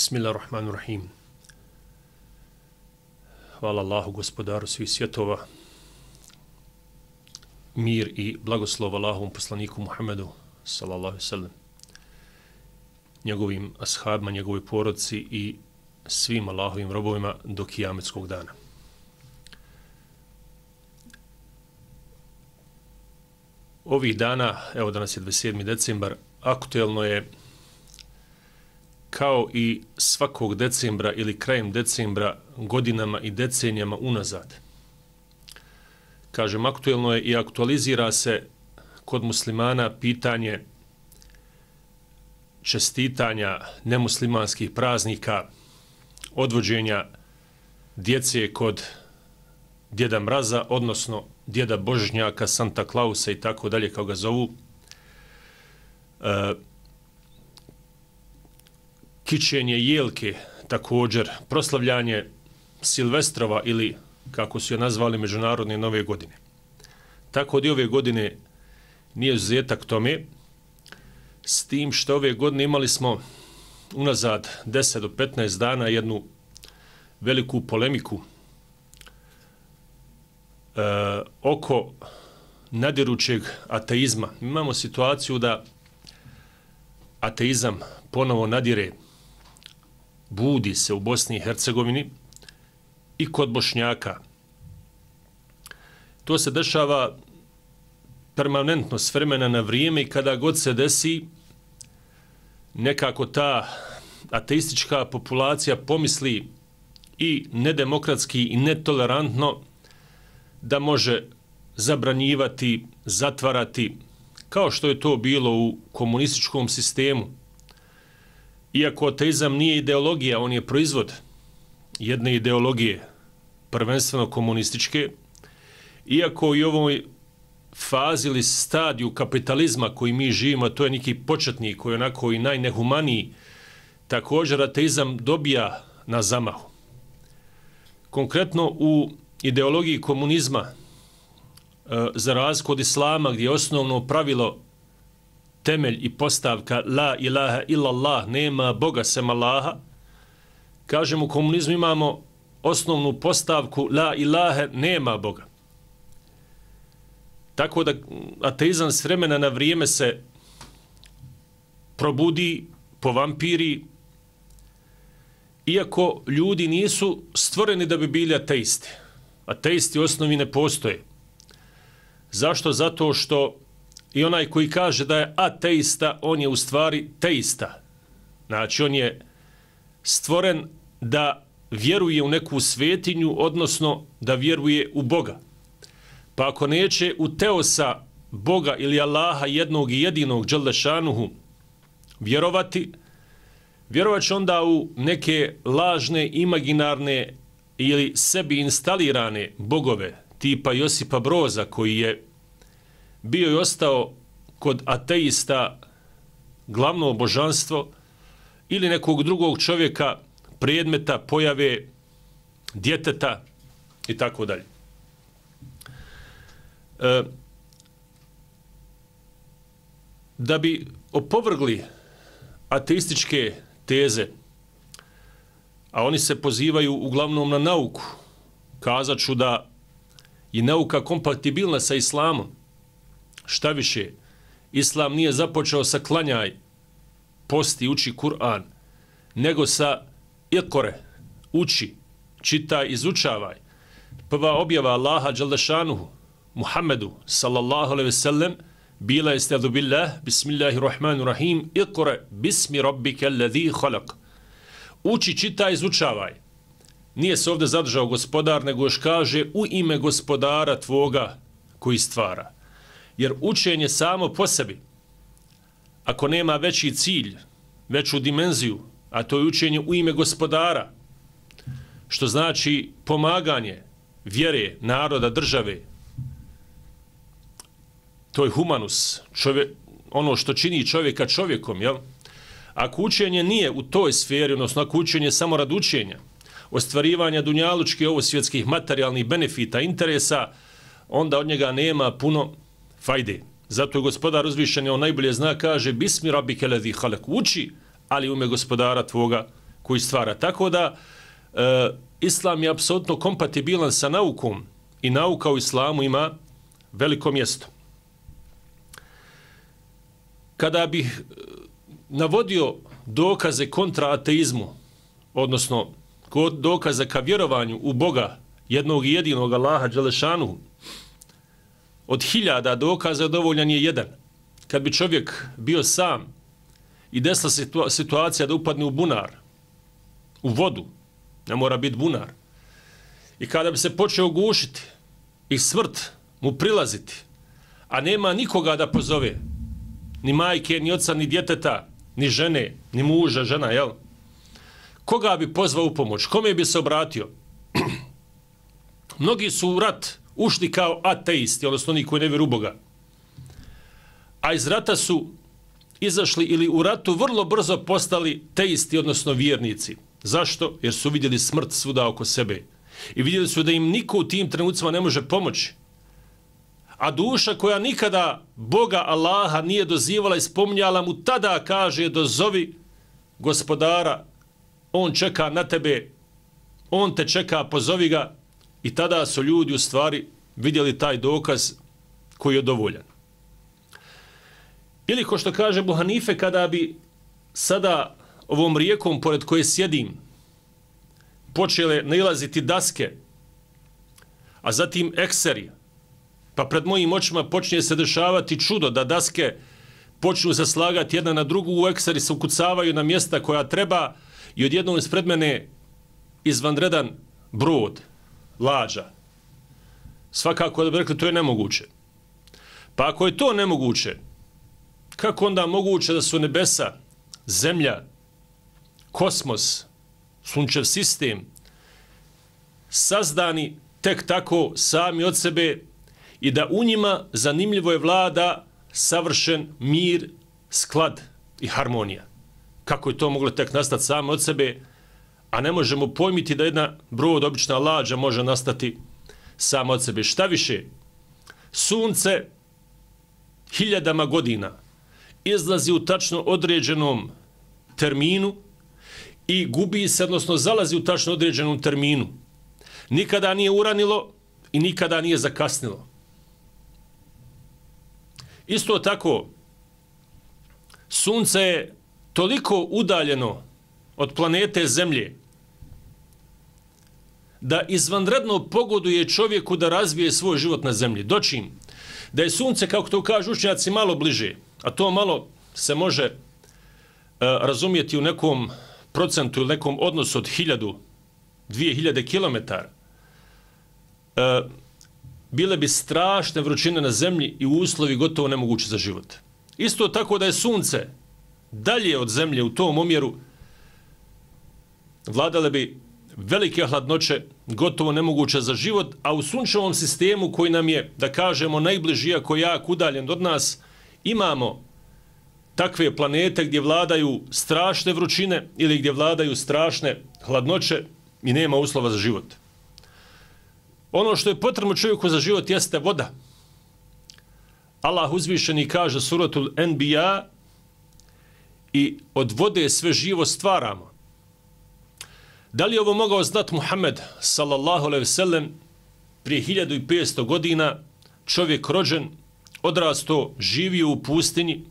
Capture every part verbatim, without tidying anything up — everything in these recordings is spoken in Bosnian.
Bismillahirrahmanirrahim. Hvala Allahu, gospodaru svih svjetova. Mir i blagoslov Allahovom poslaniku Muhammedu, sallallahu alejhi ve sellem, njegovim ashabima, njegovoj porodici i svim Allahovim robovima do kijametskog dana. Ovih dana, evo danas je dvadeset sedmi decembar, aktuelno je kao i svakog decembra ili krajem decembra godinama i decenijama unazad. Kažem, aktuelno je i aktualizira se kod muslimana pitanje čestitanja nemuslimanskih praznika, odvođenja djece kod djeda Mraza, odnosno djeda Božnjaka, Santa Klausa i tako dalje, kao ga zovu. E, kićenje jelke, također proslavljanje Silvestrova ili, kako su je nazvali, međunarodne nove godine. Tako da i ove godine nije izuzetak tome, s tim što ove godine imali smo unazad deset do petnaest dana jednu veliku polemiku e, oko nadirućeg ateizma. Imamo situaciju da ateizam ponovo nadire, budi se u Bosni i Hercegovini i kod Bošnjaka. To se dešava permanentno, s vremena na vrijeme, i kada god se desi, nekako ta ateistička populacija pomisli i nedemokratski i netolerantno da može zabranjivati, zatvarati, kao što je to bilo u komunističkom sistemu. Iako ateizam nije ideologija, on je proizvod jedne ideologije, prvenstveno komunističke, iako i u ovoj fazi ili stadiju kapitalizma koji mi živimo, to je neki početnik koji je onako i najnehumaniji, također ateizam dobija na zamahu. Konkretno u ideologiji komunizma, za razliku od islama, gdje je osnovno pravilo, temelj i postavka la ilaha illallah, nema Boga sem Allaha, kažem, u komunizmu imamo osnovnu postavku la ilaha, nema Boga. Tako da ateizam s vremena na vrijeme se probudi, povampiri, iako ljudi nisu stvoreni da bi bili ateisti. Ateisti u osnovi ne postoje. Zašto? Zato što i onaj koji kaže da je ateista, on je u stvari teista. Znači, on je stvoren da vjeruje u neku svetinju, odnosno da vjeruje u Boga. Pa ako neće u teosa Boga ili Allaha jednog i jedinog dželešanuhu vjerovati, vjerovat će onda u neke lažne, imaginarne ili sebi instalirane bogove, tipa Josipa Broza, koji je bio i ostao kod ateista glavno božanstvo, ili nekog drugog čovjeka, predmeta, pojave, djeteta i tako dalje. E, da bi opovrgli ateističke teze, a oni se pozivaju uglavnom na nauku, kazat ću da je nauka kompatibilna sa islamom. Šta više, islam nije započeo sa klanjaj, posti, uči Kur'an, nego sa ikore, uči, čitaj, izučavaj. Prva objava Allaha dželešanuhu Muhammedu sallallahu alejhi ve sellem bila je stadu billah, bismillahirrahmanirrahim, ikore bismi rabbike alladhi khalaq. Uči, čitaj, izučavaj. Nije se ovdje zadržao gospodar, nego još kaže u ime gospodara tvoga koji stvara. Jer učenje samo po sebi, ako nema veći cilj, veću dimenziju, a to je učenje u ime gospodara, što znači pomaganje vjere, naroda, države, to je humanus, čovjek, ono što čini čovjeka čovjekom, jel? Ako učenje nije u toj sferi, odnosno ako učenje samo rad učenja, ostvarivanja dunjalučkih, ovo svjetskih materijalnih benefita, interesa, onda od njega nema puno fajde. Zato je gospodar uzvišen, on najbolje zna, kaže bismi rabbike ledhi halak, uči, ali u ime gospodara tvoga koji stvara. Tako da e, Islam je apsolutno kompatibilan sa naukom i nauka u islamu ima veliko mjesto. Kada bih navodio dokaze kontra ateizmu, odnosno dokaze ka vjerovanju u Boga, jednog i jedinog Allaha Đelešanu, od hiljada dokaza dovoljan je jedan. Kad bi čovjek bio sam i desila situa- situacija da upadne u bunar, u vodu, ne mora biti bunar, i kada bi se počeo gušiti i smrt mu prilaziti, a nema nikoga da pozove, ni majke, ni oca, ni djeteta, ni žene, ni muža, žena, jel? Koga bi pozvao u pomoć? Kome bi se obratio? Mnogi su u rat ušli kao ateisti, odnosno oni koji ne vjeruju u Boga. A iz rata su izašli ili u ratu vrlo brzo postali teisti, odnosno vjernici. Zašto? Jer su vidjeli smrt svuda oko sebe. I vidjeli su da im niko u tim trenucima ne može pomoći. A duša koja nikada Boga Allaha nije dozivala i spominjala mu, tada kaže dozovi gospodara, on čeka na tebe, on te čeka, pozovi ga. I tada su ljudi u stvari vidjeli taj dokaz koji je dovoljan. Ili ko što kaže Ebu Hanife, kada bi sada ovom rijekom pored koje sjedim počele nailaziti daske, a zatim ekseri, pa pred mojim očima počinje se dešavati čudo da daske počnu se slagati jedna na drugu, u ekseri se ukucavaju na mjesta koja treba i odjednom ispred mene izvanredan brod, lađa. Svakako da bi rekli, to je nemoguće. Pa ako je to nemoguće, kako onda moguće da su nebesa, zemlja, kosmos, sunčev sistem sazdani tek tako sami od sebe i da u njima zanimljivo je vlada savršen mir, sklad i harmonija. Kako je to moglo tek nastati samo od sebe, a ne možemo pojmiti da jedna brod, obična lađa, može nastati samo od sebe. Šta više, sunce hiljadama godina izlazi u tačno određenom terminu i gubi se, odnosno zalazi u tačno određenom terminu. Nikada nije uranilo i nikada nije zakasnilo. Isto tako, sunce je toliko udaljeno od planete Zemlje da izvanredno pogoduje čovjeku da razvije svoj život na Zemlji. Dočim da je sunce, kako to kažu učenjaci, malo bliže, a to malo se može uh, razumjeti u nekom procentu ili nekom odnosu od hiljadu, dvije hiljade kilometara, uh, bile bi strašne vrućine na Zemlji i uslovi gotovo nemogući za život. Isto tako da je sunce dalje od Zemlje u tom omjeru, vladale bi velike hladnoće, gotovo nemoguće za život, a u sunčevom sistemu koji nam je, da kažemo, najbliži, ako jak udaljen od nas, imamo takve planete gdje vladaju strašne vrućine ili gdje vladaju strašne hladnoće i nema uslova za život. Ono što je potrebno čovjeku za život jeste voda. Allah uzvišeni kaže suratul Enbiya, i od vode sve živo stvaramo. Da li je ovo mogao znati Muhammed sallallahu alejhi ve sellem prije hiljadu i petsto godina, čovjek rođen, odrasto, živio u pustinji,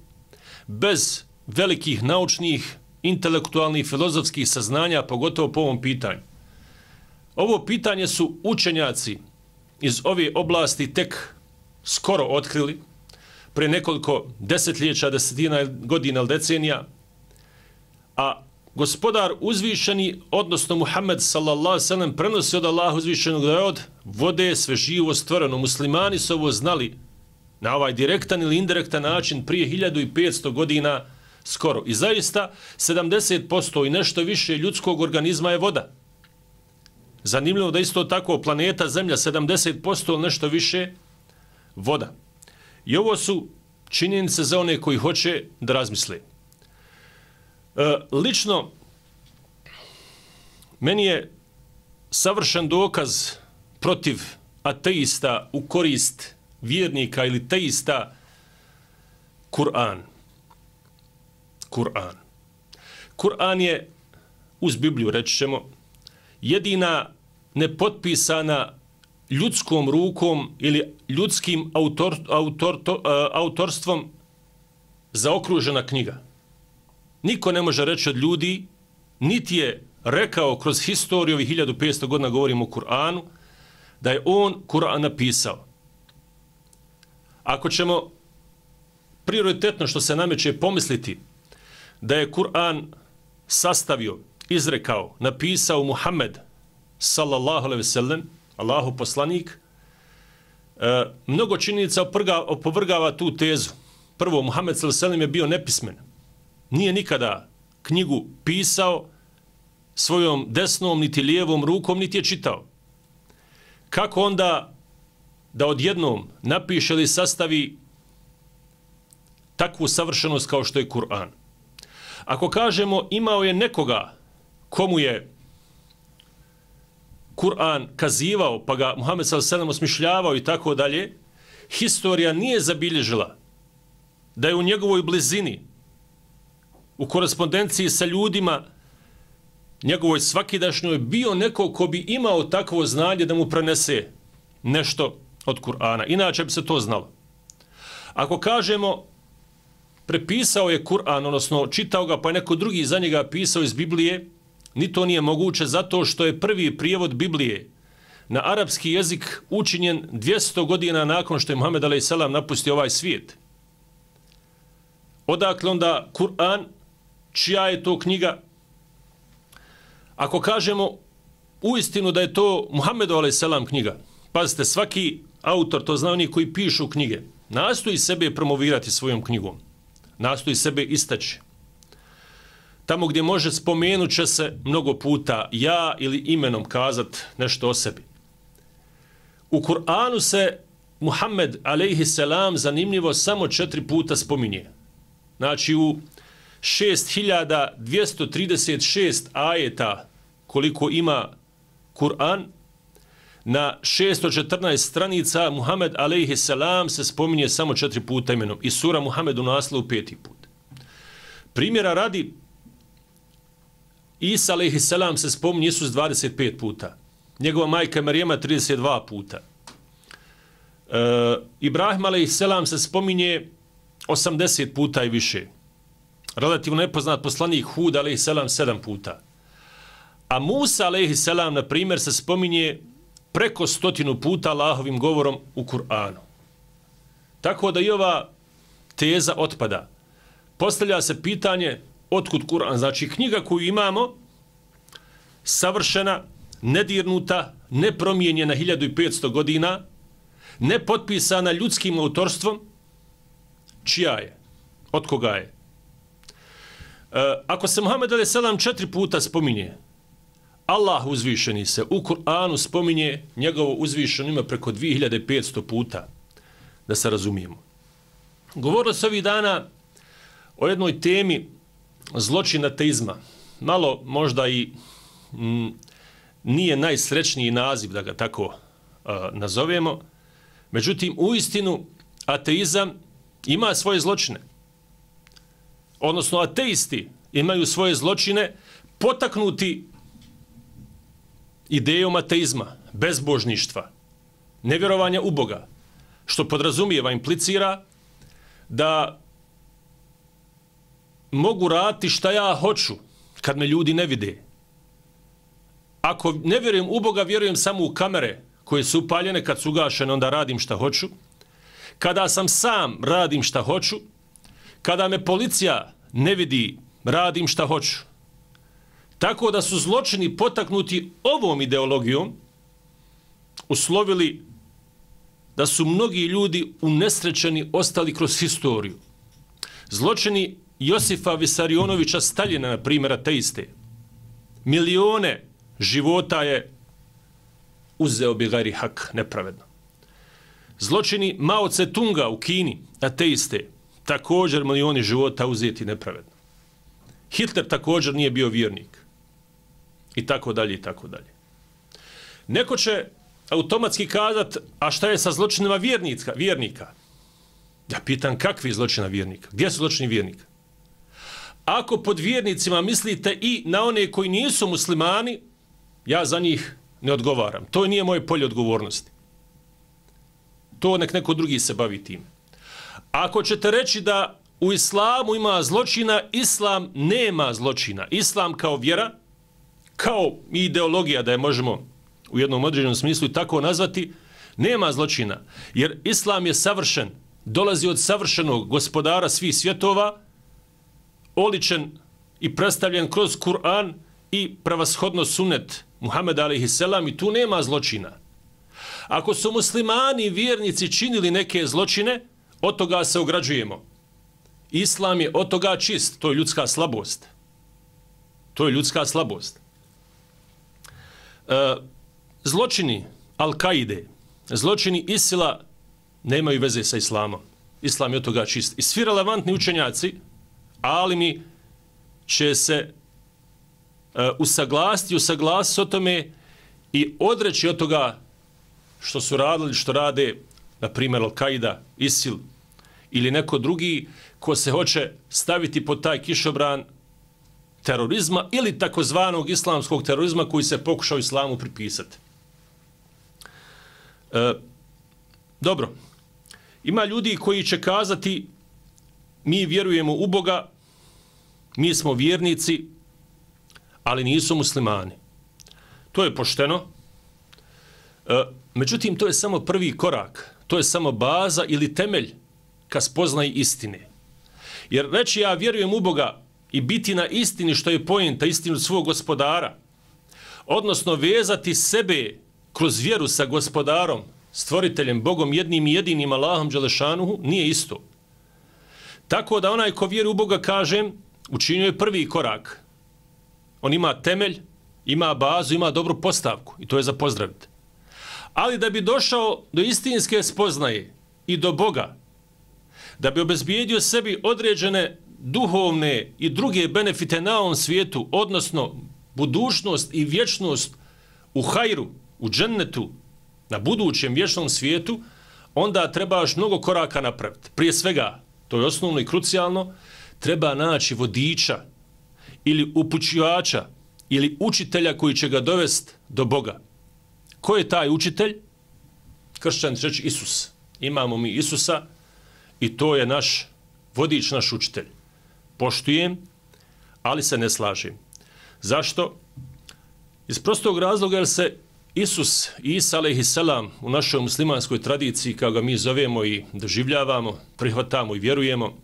bez velikih naučnih, intelektualnih, filozofskih saznanja, pogotovo po ovom pitanju. Ovo pitanje su učenjaci iz ove oblasti tek skoro otkrili, pre nekoliko desetljeća, desetina godina ili decenija, a gospodar uzvišeni, odnosno Muhammed sallallahu alejhi ve sellem, prenosi od Allaha uzvišenog da je od vode sve živo stvoreno. Muslimani su ovo znali na ovaj direktan ili indirektan način prije hiljadu i petsto godina skoro. I zaista sedamdeset posto i nešto više ljudskog organizma je voda. Zanimljivo da isto tako planeta Zemlja sedamdeset posto ili nešto više voda. I ovo su činjenice za one koji hoće da razmisle. E, lično, meni je savršen dokaz protiv ateista u korist vjernika ili teista Kur'an. Kur'an. Kur'an je uz Bibliju, reći ćemo, jedina nepotpisana ljudskom rukom ili ljudskim autor, autor, to, uh, autorstvom zaokružena knjiga. Niko ne može reći od ljudi, niti je rekao kroz historiju ovih hiljadu petsto godina, govorimo o Kur'anu, da je on Kur'an napisao. Ako ćemo prioritetno što se nameće pomisliti da je Kur'an sastavio, izrekao, napisao Muhammed sallallahu alejhi ve sellem, Allahu poslanik, e, mnogo činjenica opovrgava tu tezu. Prvo, Muhammed sallallahu alejhi ve sellem je bio nepismen. Nije nikada knjigu pisao svojom desnom, niti lijevom rukom, niti je čitao. Kako onda da odjednom napiše ili sastavi takvu savršenost kao što je Kur'an? Ako kažemo imao je nekoga komu je Kur'an kazivao, pa ga Muhammed sallallahu alejhi ve sellem osmišljavao i tako dalje, historija nije zabilježila da je u njegovoj blizini, u korespondenciji sa ljudima, njegovoj svakidašnjoj, bio neko ko bi imao takvo znanje da mu prenese nešto od Kur'ana. Inače bi se to znalo. Ako kažemo prepisao je Kur'an, odnosno čitao ga, pa je neko drugi za njega pisao iz Biblije, ni to nije moguće zato što je prvi prijevod Biblije na arapski jezik učinjen dvjesto godina nakon što je Muhammed alejhi selam napustio ovaj svijet. Odakle onda Kur'an, čija je to knjiga? Ako kažemo uistinu da je to Muhammed alejhi selam knjiga, pazite, svaki autor, to zna oni koji pišu knjige, nastoji sebe promovirati svojom knjigom, nastoji sebe istaći. Tamo gdje može spomenut će se mnogo puta ja ili imenom kazat nešto o sebi. U Kur'anu se Muhammed alejhi selam zanimljivo samo četiri puta spominje. Znači u šest hiljada dvjesto trideset šest ajeta koliko ima Kur'an, na šesto četrnaest stranica Muhammed alejhi selam se spominje samo četiri puta imenom i sura Muhammed u naslovu peti put. Primjera radi, Isa alejhi selam se spominje Isus dvadeset pet puta. Njegova majka Marijema trideset dva puta. E, Ibrahim alejhi selam se spominje osamdeset puta i više. Relativno nepoznat poslanik Hud alejhi selam sedam puta. A Musa alejhi selam, na primjer, se spominje preko stotinu puta Allahovim govorom u Kur'anu. Tako da i ova teza otpada. Postavlja se pitanje otkud Kur'an, znači knjiga koju imamo, savršena, nedirnuta, nepromijenjena hiljadu petsto godina, nepotpisana ljudskim autorstvom, čija je? Od koga je? E, ako se Muhammed alejhi selam četiri puta spominje, Allah uzvišeni se u Kur'anu spominje njegovo uzvišeno ime preko dvije hiljade petsto puta, da se razumijemo. Govorilo se ovih dana o jednoj temi zločin ateizma. Malo možda i m, nije najsrećniji naziv da ga tako uh, nazovemo. Međutim, uistinu ateizam ima svoje zločine. Odnosno, ateisti imaju svoje zločine potaknuti idejom ateizma, bezbožništva, nevjerovanja u Boga, što podrazumijeva, implicira da mogu raditi šta ja hoću kad me ljudi ne vide. Ako ne vjerujem u Boga, vjerujem samo u kamere koje su upaljene, kad su ugašene, onda radim šta hoću. Kada sam sam, radim šta hoću. Kada me policija ne vidi, radim šta hoću. Tako da su zločini potaknuti ovom ideologijom uslovili da su mnogi ljudi unesrećeni ostali kroz historiju. Zločini Josifa Visarionovića Staljina, na primjer, ateiste, milione života je uzeo bi gajri hak, nepravedno. Zločini Mao Tse-tunga u Kini, ateiste, također milioni života uzeti nepravedno. Hitler također nije bio vjernik. I tako dalje, i tako dalje. Neko će automatski kazat, a šta je sa zločinima vjernika? vjernika? Ja pitan, kakvi zločina vjernika? Gdje su zločini vjernika? Ako pod vjernicima mislite i na one koji nisu muslimani, ja za njih ne odgovaram. To nije moje polje odgovornosti. To nek neko drugi se bavi tim. Ako ćete reći da u islamu ima zločina, islam nema zločina. Islam kao vjera, kao ideologija, da je možemo u jednom određenom smislu i tako nazvati, nema zločina. Jer islam je savršen, dolazi od savršenog gospodara svih svjetova, oličen i predstavljen kroz Kur'an i prevashodno sunnet Muhammed alejhi selam i tu nema zločina. Ako su muslimani vjernici činili neke zločine, od toga se ograđujemo. Islam je od toga čist, to je ljudska slabost. To je ljudska slabost. E, zločini Al-Kaide, zločini Isila nemaju veze sa islamom. Islam je od toga čist. I svi relevantni učenjaci, alimi, će se uh, usaglasiti, usaglasiti o tome i odreći od toga što su radili, što rade, na primjer Al-Kaida, Isil ili neko drugi ko se hoće staviti pod taj kišobran terorizma ili takozvanog islamskog terorizma koji se pokušao islamu pripisati. E, dobro, ima ljudi koji će kazati mi vjerujemo u Boga, mi smo vjernici, ali nisu muslimani. To je pošteno. E, međutim, to je samo prvi korak. To je samo baza ili temelj ka spoznaji istine. Jer reći ja vjerujem u Boga i biti na istini što je poenta, istinu svog gospodara, odnosno vezati sebe kroz vjeru sa gospodarom, stvoriteljem, Bogom, jednim i jedinim Allahom Đelešanuhu, nije isto. Tako da onaj ko vjeruje u Boga, kažem, učinio je prvi korak. On ima temelj, ima bazu, ima dobru postavku i to je za pozdraviti. Ali da bi došao do istinske spoznaje i do Boga, da bi obezbijedio sebi određene duhovne i druge benefite na ovom svijetu, odnosno budućnost i vječnost u hajru, u džennetu, na budućem vječnom svijetu, onda trebaš mnogo koraka napraviti. Prije svega, to je osnovno i krucijalno, treba naći vodiča ili upućivača ili učitelja koji će ga dovesti do Boga. Ko je taj učitelj? Kršćan će reći Isus. Imamo mi Isusa i to je naš vodič, naš učitelj. Poštujem, ali se ne slažem. Zašto? Iz prostog razloga jer se Isus, Isa alejhi selam, u našoj muslimanskoj tradiciji, kao ga mi zovemo i doživljavamo, prihvatamo i vjerujemo,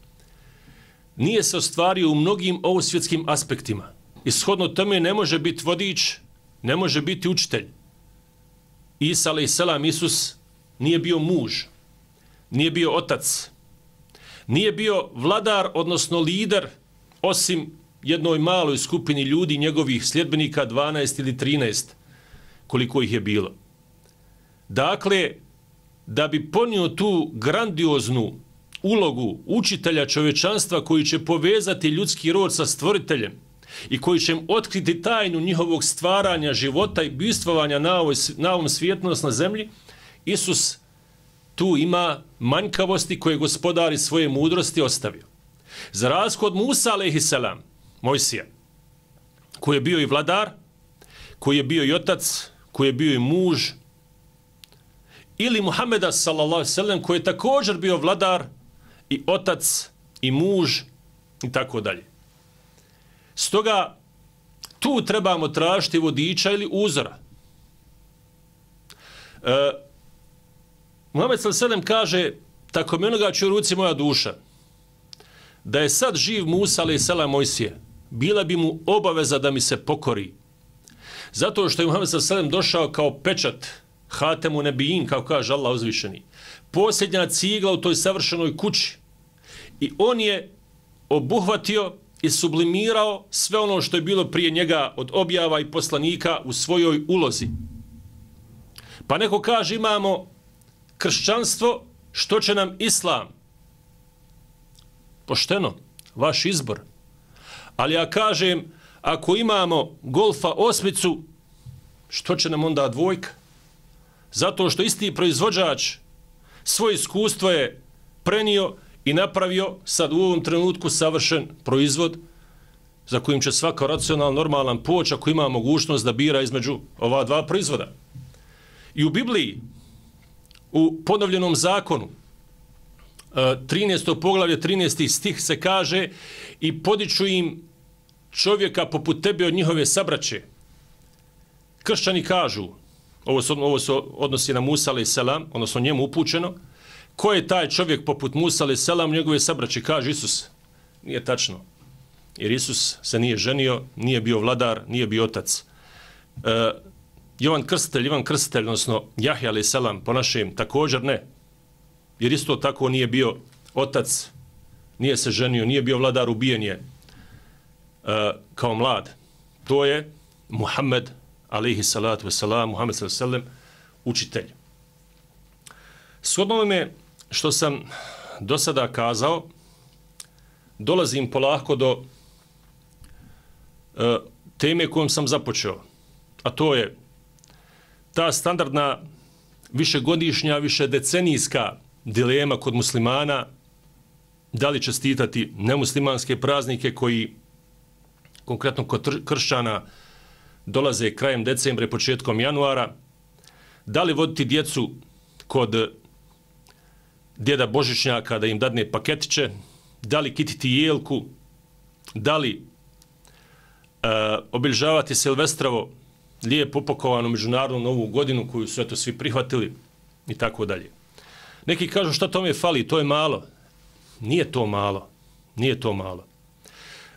nije se ostvario u mnogim ovosvjetskim aspektima. Ishodno tome ne može biti vodič, ne može biti učitelj. Isa alejhi selam, Isus, nije bio muž, nije bio otac, nije bio vladar, odnosno lider, osim jednoj maloj skupini ljudi, njegovih sljedbenika, dvanaest ili trinaest, koliko ih je bilo. Dakle, da bi ponio tu grandioznu ulogu učitelja čovječanstva koji će povezati ljudski rod sa stvoriteljem i koji će im otkriti tajnu njihovog stvaranja, života i bivstvovanja na, ovoj, na ovom svijetu, na zemlji, Isus tu ima manjkavosti koje gospodari svoje mudrosti ostavio. Za razliku od Musa alejhi selam, Mojsija, koji je bio i vladar, koji je bio i otac, koji je bio i muž, ili Muhameda sallallahu alejhi ve sellem, koji je također bio vladar i otac i muž i tako dalje. Stoga tu trebamo tražiti vodiča ili uzora. E, Muhammed sallallahu alejhi ve sellem kaže, tako mi onoga će u ruci moja duša, da je sad živ Musa alejhi selam Mojsije, bila bi mu obaveza da mi se pokori. Zato što je Muhammed sallallahu alejhi ve sellem došao kao pečat, Hatemu Nebijin, kao kaže Allah uzvišeni, posljednja cigla u toj savršenoj kući. I on je obuhvatio i sublimirao sve ono što je bilo prije njega od objava i poslanika u svojoj ulozi. Pa neko kaže imamo kršćanstvo, što će nam islam? Pošteno, vaš izbor. Ali ja kažem, ako imamo golfa osmicu, što će nam onda dvojka? Zato što isti proizvođač svoje iskustvo je prenio i napravio sad u ovom trenutku savršen proizvod za kojim će svaka racionalna, normalan poć ako ima mogućnost da bira između ova dva proizvoda. I u Bibliji, u ponovljenom zakonu, trinaesto poglavlje, trinaesti stih se kaže i podiču im čovjeka poput tebe od njihove sabraće. Kršćani kažu, ovo se, ovo se odnosi na Musa alaih selam, odnosno njemu upućeno, ko je taj čovjek poput Musa alaih selam, njegove sabraće, kaže Isus. Nije tačno. Jer Isus se nije ženio, nije bio vladar, nije bio otac. E, Jovan Krstitelj, Ivan Krstitelj, odnosno Jahja alaih selam, po našem, također ne. Jer isto tako nije bio otac, nije se ženio, nije bio vladar, ubijen je e, kao mlad. To je Muhammed alaihi salatu wasalam, Muhammed sallallahu alaihi sallam, učitelj. Shodno me što sam do sada kazao, dolazim polako do e, teme kojom sam započeo, a to je ta standardna višegodišnja, višedecenijska dilema kod muslimana, da li čestitati nemuslimanske praznike koji konkretno kod kršćana dolaze krajem decembra i početkom januara, da li voditi djecu kod djeda Božićnjaka da im dadne paketiće, da li kititi jelku, da li e, obilježavati Silvestrovo lijepo upakovanu međunarodnu novu godinu koju su eto svi prihvatili i tako dalje. Neki kažu šta tome fali, to je malo. Nije to malo. Nije to malo.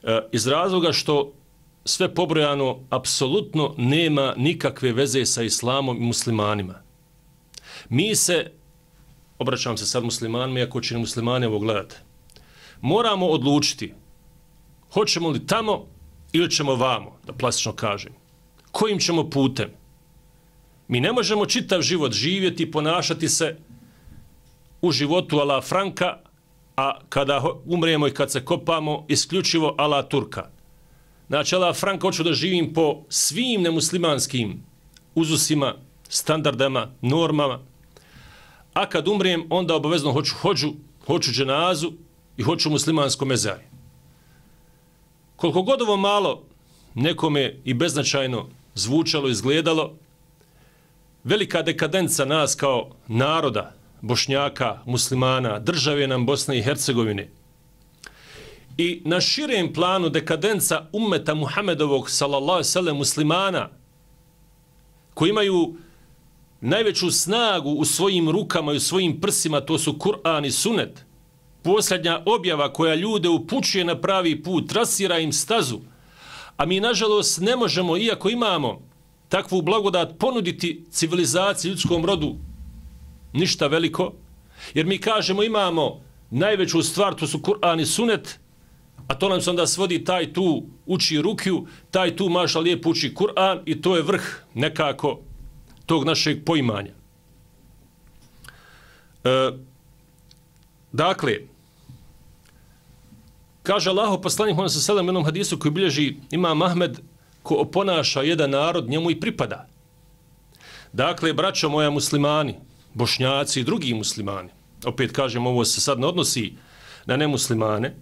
E, iz razloga što sve pobrojano apsolutno nema nikakve veze sa islamom i muslimanima. Mi se, obraćam se sad muslimanima, iako će muslimani ovo gledati, moramo odlučiti hoćemo li tamo ili ćemo vamo, da plastično kažem. Kojim ćemo putem? Mi ne možemo čitav život živjeti i ponašati se u životu ala Franka, a kada umremo i kad se kopamo, isključivo ala Turka. Znači, ala Franka hoću da živim po svim nemuslimanskim uzusima, standardama, normama, a kad umrijem, onda obavezno hoću hođu, hoću dženazu i hoću muslimansko mezari. Koliko god ovo malo nekome i beznačajno zvučalo, izgledalo, velika dekadenca nas kao naroda, Bošnjaka, muslimana, države nam Bosne i Hercegovine i na širem planu dekadenca ummeta Muhammedovog sallallahu alejhi ve sellem muslimana koji imaju najveću snagu u svojim rukama i u svojim prsima, to su Kur'an i Sunnet, posljednja objava koja ljude upućuje na pravi put, trasira im stazu, a mi nažalost ne možemo, iako imamo takvu blagodat, ponuditi civilizaciji, ljudskom rodu ništa veliko, jer mi kažemo imamo najveću stvar, to su Kur'an i Sunnet, a to nam se onda svodi taj tu uči rukju, taj tu maša lijepo uči Kur'an i to je vrh nekako tog našeg poimanja. E, dakle, kaže Allaho poslanik Muhammed sallallahu alejhi ve sellem u jednom hadisu koji bilježi Imam Ahmed, ko oponaša jedan narod, njemu i pripada. Dakle, braćo moja muslimani, Bošnjaci i drugi muslimani, opet kažem, ovo se sad ne odnosi na nemuslimane,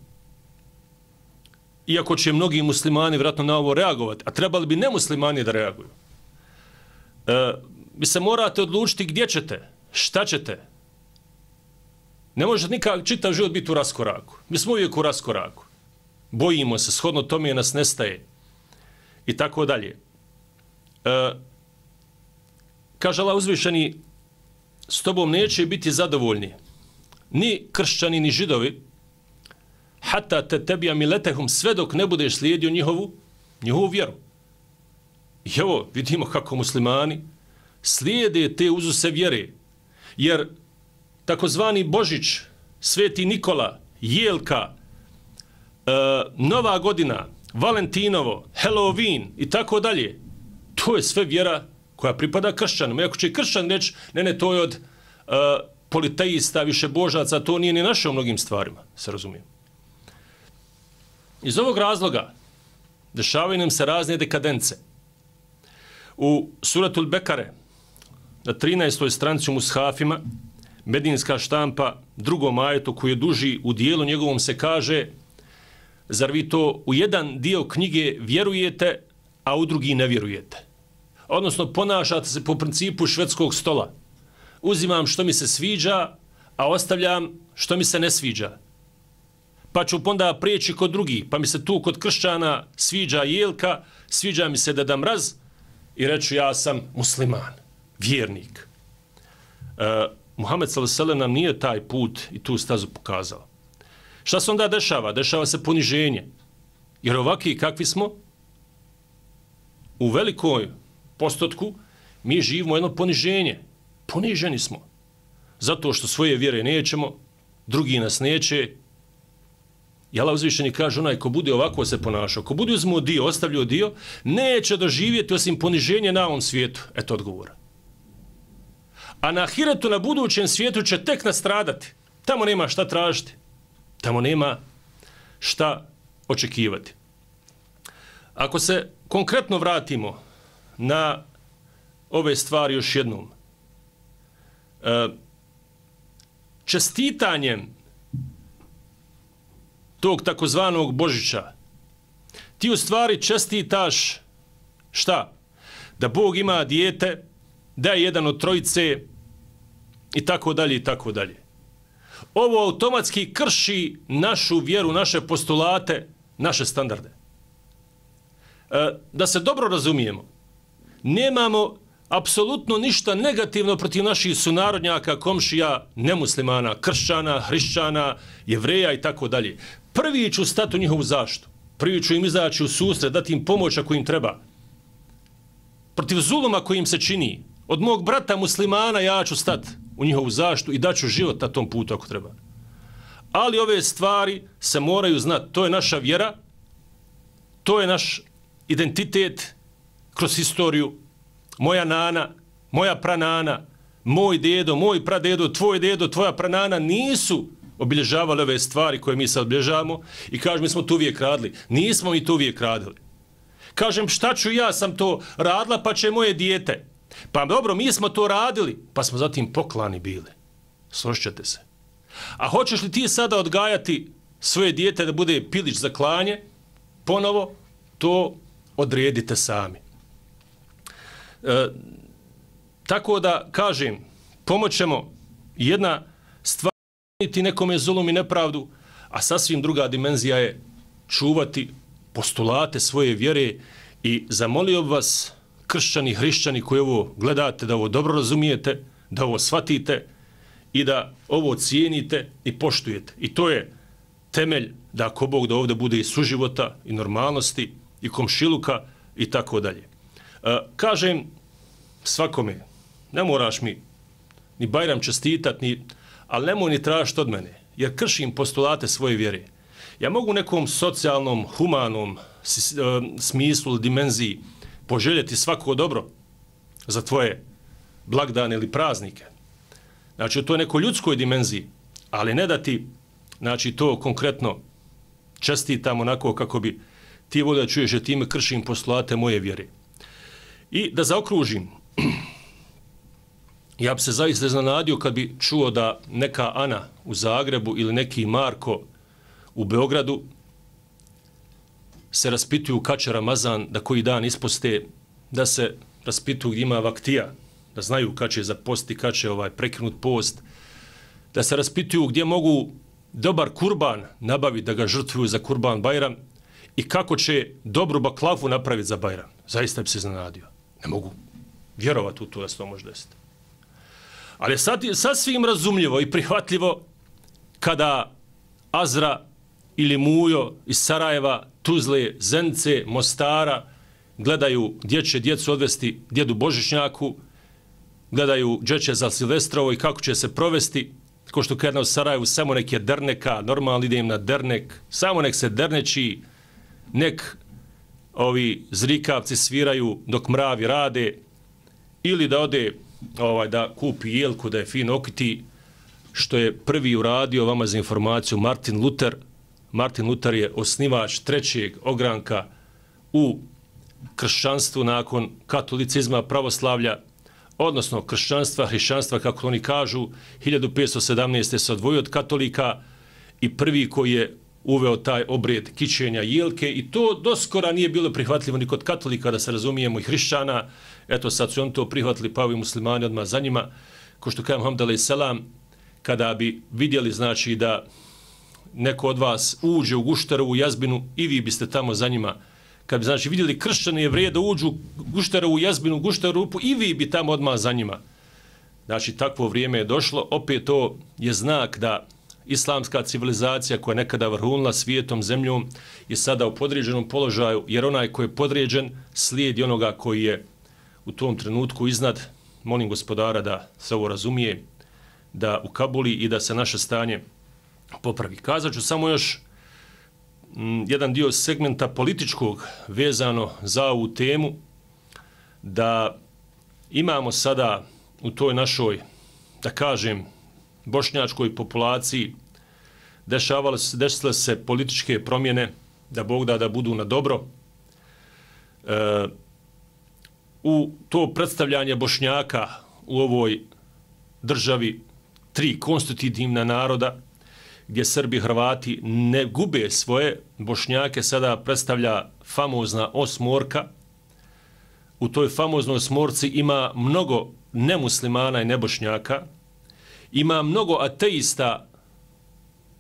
iako će mnogi muslimani vjerojatno na ovo reagovati, a trebali bi nemuslimani da reaguju. E, vi se morate odlučiti gdje ćete, šta ćete. Ne može nikak čitav život biti u raskoraku. Mi smo uvijek u raskoraku. Bojimo se, shodno tome nas nestaje. I tako dalje. E, kaže Allah uzvišeni, s tobom neće biti zadovoljni ni kršćani, ni židovi, hata te tebija miletehum, sve dok ne budeš slijedio njihovu, njihovu vjeru. I evo, vidimo kako muslimani slijede te uzuse vjere, jer takozvani Božić, Sveti Nikola, Jelka, e, Nova godina, Valentinovo, Halloween i tako dalje, to je sve vjera koja pripada kršćanima. Iako će kršćan reći, ne, ne, to je od uh, politeista, više božaca, to nije ni naše u mnogim stvarima, se razumijem. Iz ovog razloga dešavaju nam se razne dekadence. U suratul Bekare, na trinaestoj stranici u mushafima, medinska štampa, drugom ajetu koji je duži, u dijelu njegovom se kaže zar vi to u jedan dio knjige vjerujete, a u drugi ne vjerujete? Odnosno, ponašate se po principu švedskog stola. Uzimam što mi se sviđa, a ostavljam što mi se ne sviđa. Pa ću onda prijeći kod drugih, pa mi se tu kod kršćana sviđa jelka, sviđa mi se Deda Mraz i reću ja sam musliman, vjernik. E, Muhammed sallallahu alejhi ve sellem nam nije taj put i tu stazu pokazao. Šta se onda dešava? Dešava se poniženje. Jer ovakvi kakvi smo, u velikoj postotku mi živimo jedno poniženje. Poniženi smo. Zato što svoje vjere nećemo, drugi nas neće. I Allah uzvišeni kaže, onaj ko bude ovako se ponašao, ko bude uzmuo dio, ostavljio dio, neće doživjeti osim poniženja na ovom svijetu. Eto odgovora. A na ahiretu, na budućem svijetu će tek nastradati. Tamo nema šta tražiti. Tamo nema šta očekivati. Ako se konkretno vratimo na ove stvari još jednom, čestitanjem tog takozvanog Božića, ti u stvari čestitaš šta? Da Bog ima dijete, da je jedan od trojice i tako dalje i tako dalje. Ovo automatski krši našu vjeru, naše postulate, naše standarde. E, da se dobro razumijemo, nemamo apsolutno ništa negativno protiv naših sunarodnjaka, komšija, nemuslimana, kršćana, hrišćana, jevreja i tako dalje. Prvi ću stati u njihovu zaštitu. Prvi ću im izaći u susret, dati im pomoć ako im treba. Protiv zuluma koji im se čini, od mog brata muslimana ja ću stati u njihovu zaštitu i daću život na tom putu ako treba. Ali ove stvari se moraju znati. To je naša vjera, to je naš identitet kroz historiju. Moja nana, moja pranana, moj dedo, moj pradedo, tvoj dedo, tvoja pranana nisu obilježavali ove stvari koje mi sad obilježavamo i kažem, mi smo to uvijek radili. Nismo mi to uvijek radili. Kažem, šta ću ja sam to radila, pa će moje dijete. Pa dobro, mi smo to radili, pa smo zatim poklani bili. Složit se. A hoćeš li ti sada odgajati svoje dijete da bude pilić za klanje? Ponovo, to odredite sami. E, tako da, kažem, pomoćemo jedna stvar ti nekome zulum i nepravdu, a sasvim druga dimenzija je čuvati postulate svoje vjere i zamolio vas, kršćani, hrišćani koji ovo gledate, da ovo dobro razumijete, da ovo shvatite i da ovo cijenite i poštujete. I to je temelj da ako Bog da ovdje bude i suživota i normalnosti i komšiluka i tako dalje. E, kažem svakome, ne moraš mi ni Bajram čestitat, ni, ali nemoj ni tražiti od mene, jer kršim postulate svoje vjere. Ja mogu nekom socijalnom, humanom smislu, dimenziji poželjeti svako dobro za tvoje blagdane ili praznike. Znači, u toj nekoj ljudskoj dimenziji, ali ne da ti, znači, to konkretno čestitam onako kako bi ti volio da čuješ, jer time kršim postulate moje vjere. I da zaokružim, ja bi se zaista iznenadio kad bi čuo da neka Ana u Zagrebu ili neki Marko u Beogradu se raspituju kad će Ramazan, da koji dan isposte, da se raspituju gdje ima vaktija, da znaju kad će zaposti, kad će ovaj prekinut post, da se raspituju gdje mogu dobar kurban nabaviti da ga žrtvuju za kurban Bajram i kako će dobru baklavu napraviti za Bajram. Zaista bi se iznenadio. Ne mogu vjerovati u to da se to može desiti. Ali je sad, sasvim razumljivo i prihvatljivo kada Azra ili Mujo iz Sarajeva, Tuzle, Zenice, Mostara gledaju gdje će djecu odvesti djedu Božićnjaku, gledaju gdje će za Silvestrovo i kako će se provesti, ko što kada u Sarajevu samo nek je derneka, normalno ide im na dernek, samo nek se derneči, nek ovi zrikavci sviraju dok mravi rade, ili da ode ovaj, da kupi jelku, da je fino okiti, što je prvi uradio, vama za informaciju, Martin Luther. Martin Luther je osnivač trećeg ogranka u kršćanstvu nakon katolicizma, pravoslavlja, odnosno kršćanstva, hrišćanstva, kako oni kažu, hiljadu petsto sedamnaeste se odvojio od katolika i prvi koji je uveo taj obred kićenja jelke i to doskora nije bilo prihvatljivo ni kod katolika, da se razumijemo, i hrišćana. Eto, sad su oni to prihvatili, pa ovi muslimani odmah za njima. Ko što kajem Muhammed alejhi selam, kada bi vidjeli, znači, da neko od vas uđe u Gušterovu jazbinu, i vi biste tamo za njima. Kad bi, znači, vidjeli kršćane Jevreje da uđu u Gušterovu jazbinu, Gušterovu rupu, i vi bi tamo odmah za njima. Znači, takvo vrijeme je došlo. Opet to je znak da islamska civilizacija koja je nekada vrhunila svijetom, zemljom, je sada u podređenom položaju, jer onaj koji je podređen slijedi onoga koji je u tom trenutku iznad. Molim Gospodara da se ovo razumije, da ukabuli i da se naše stanje popravi. Kazat ću samo još m, jedan dio segmenta političkog vezano za ovu temu, da imamo sada u toj našoj, da kažem, bošnjačkoj populaciji dešavale se, desile se političke promjene, da Bog da da budu na dobro. E, u to predstavljanje Bošnjaka u ovoj državi, tri konstitutivna naroda, gdje Srbi i Hrvati ne gube svoje, Bošnjake sada predstavlja famozna osmorka. U toj famoznoj osmorci ima mnogo nemuslimana i nebošnjaka, ima mnogo ateista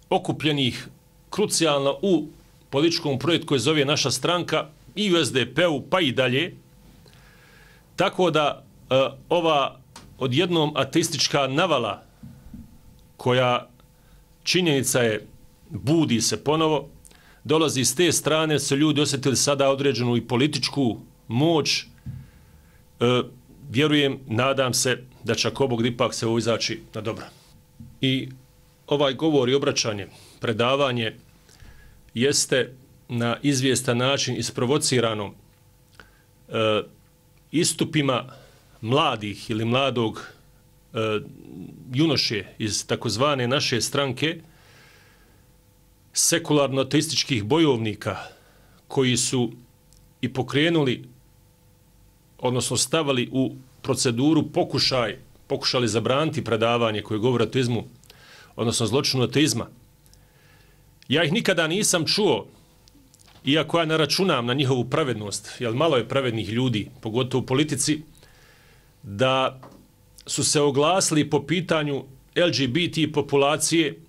okupljenih krucijalno u političkom projektu koji zove naša stranka, i u es de pe-u, pa i dalje. Tako da e, ova odjednom ateistička navala, koja činjenica je, budi se ponovo, dolazi s te strane, su ljudi osjetili sada određenu i političku moć. E, vjerujem, nadam se da će ako Bog ipak se ovo izaći na dobro. I ovaj govor i obraćanje, predavanje, jeste na izvjestan način isprovocirano e, istupima mladih ili mladog e, junoše iz takozvane naše stranke, sekularno-ateističkih bojovnika, koji su i pokrenuli, odnosno stavili u proceduru pokušaj, pokušali zabraniti predavanje koje govori o ateizmu, odnosno zločinu ateizma. Ja ih nikada nisam čuo, iako ja ne računam na njihovu pravednost, jer malo je pravednih ljudi, pogotovo u politici, da su se oglasili po pitanju el ge be te populacije,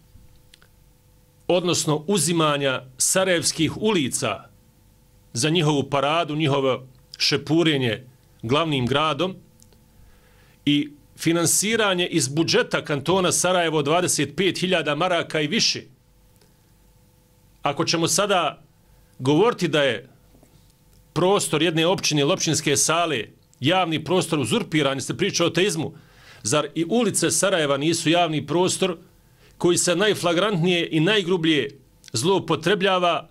odnosno uzimanja sarajevskih ulica za njihovu paradu, njihovo šepurenje glavnim gradom i finansiranje iz budžeta kantona Sarajevo dvadeset pet hiljada maraka i više. Ako ćemo sada govoriti da je prostor jedne općine ili općinske sale, javni prostor uzurpiran, se priča o ateizmu, zar i ulice Sarajeva nisu javni prostor koji se najflagrantnije i najgrublje zloupotrebljava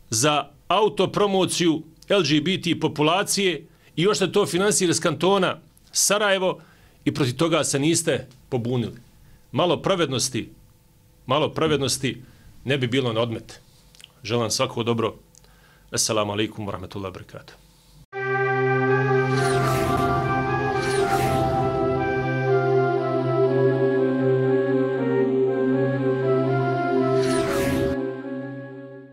za autopromociju el ge be te populacije i još se to finansira iz kantona Sarajevo i protiv toga se niste pobunili. Malo pravednosti, malo pravednosti ne bi bilo na odmet. Želim svako dobro. Assalamu alaikum wa rahmatullahi wa barakatuh.